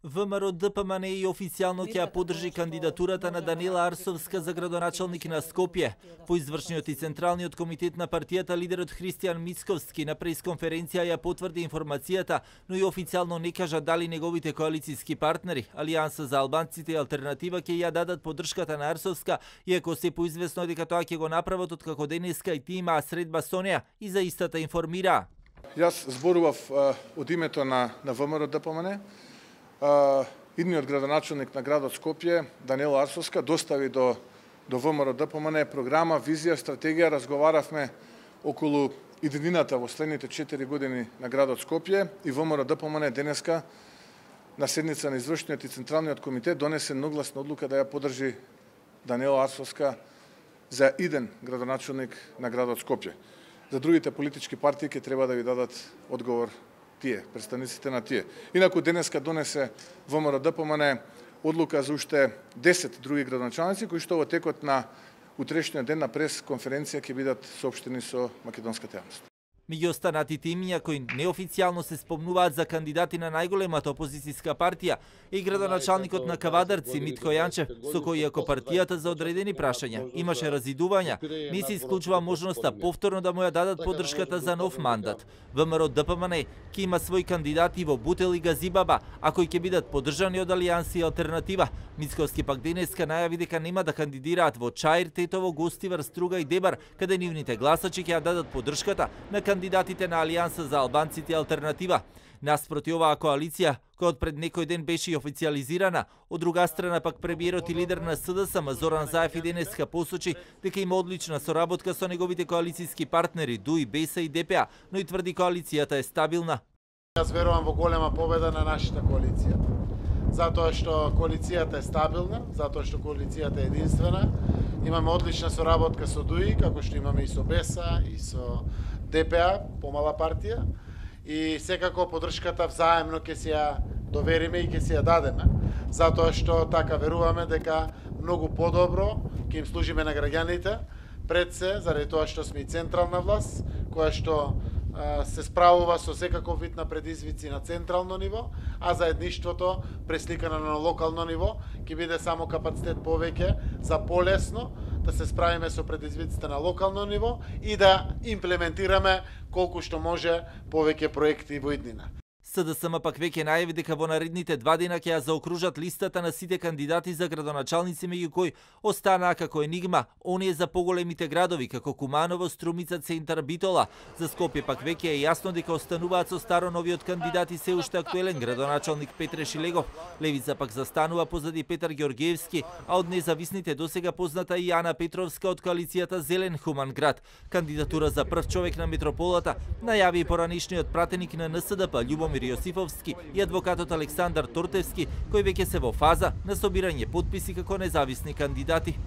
ВМРО-ДПМН и официјално ќе ја поддржи кандидатурата на Даниела Арсовска за градоначалник на Скопје. По извршниот и Централниот комитет на партијата, лидерот Христијан Мицковски на пресконференција ја потврди информацијата, но и официјално не кажа дали неговите коалицијски партнери, Алијанса за албанците и Алтернатива, ќе ја дадат поддршката на Арсовска, иако се поизвестно дека тоа ќе го направат откако денеска и ти имаа средба со неа и за истата информира. Јас зборував од името на ВМРО-ДПМН. Идниот градоначалник на градот Скопје, Даниела Арсовска, достави до ВМРО-ДПМН програма, визија, стратегија. Разговаравме околу иднината во следните 4 години на градот Скопје и ВМРО-ДПМН денеска на седница на извршниот и Централниот комитет донесе едногласна одлука да ја поддржи Даниела Арсовска за иден градоначалник на градот Скопје. За другите политички партии ќе треба да ви дадат одговор тие, представниците на тие. Инаку денеска донесе ВМРО-ДПМН одлука за уште 10 други градоначалници кои што во текот на утрешниот ден на пресконференција ќе бидат соопштени со македонската јавност. Меѓу останатите имиња кои неофицијално се спомнуваат за кандидати на најголемата опозицијска партија и градоначалникот на Кавадарци Митко Јанчев, со кој иако партијата за одредени прашања имаше разидувања, не се исклучува можноста повторно да му ја дадат поддршката за нов мандат. ВМРО-ДПМН ќе има свој кандидати во Бутел и Газибаба, а кои ќе бидат поддржани од Алијанса и Алтернатива. Мицковски пак денеска најави дека нема да кандидираат во Чаир, Тетово, Гостивар, Струга и Дебар, каде нивните гласачи ќе ја дадат поддршката на кандидатите на Алијанса за албанците и Алтернатива. Наспроти оваа коалиција, која од пред некој ден беше и официјализирана, од друга страна пак премиерот и лидер на СДСМ Зоран Заев и денеска посочи дека има одлична соработка со неговите коалицијски партнери ДУИ, БЕСА и ДПА, но и тврди коалицијата е стабилна. Јас верувам во голема победа на нашата коалиција. Затоа што коалицијата е стабилна, затоа што коалицијата е единствена. Имаме одлична соработка со ДУИ, како што имаме и со БЕСА, и со ДПА, помала партија. И секако поддршката взаемно ќе се ја довериме и ќе се ја дадеме. Затоа што така веруваме дека многу подобро ќе им служиме на граѓаните, пред се, заради тоа што сме и централна власт, која што се справува со секаков вид на предизвици на централно ниво, а заедништвото пресликано на локално ниво ќе биде само капацитет повеќе за полесно да се справиме со предизвиците на локално ниво и да имплементираме колку што може повеќе проекти во иднина. СДСМ пак веќе најави дека во наредните 2 дена ќе ја заокружат листата на сите кандидати за градоначалници, меѓу кои останаа како енигма оние за поголемите градови како Куманово, Струмица, Центар, Битола. За Скопје пак веќе е јасно дека остануваат со старо новиот кандидат и се уште актуелен градоначалник Петре Шилегов. Левица пак застанува позади Петар Ѓорѓиевски, а од независните досега позната и Јана Петровска од коалицијата Зелен Хуман град. Кандидатура за прв човек на метрополата најави и поранишниот пратеник на НСДП Љубомир Јосифовски и адвокатот Александар Тортевски, кои веќе се во фаза на собирање потписи како независни кандидати.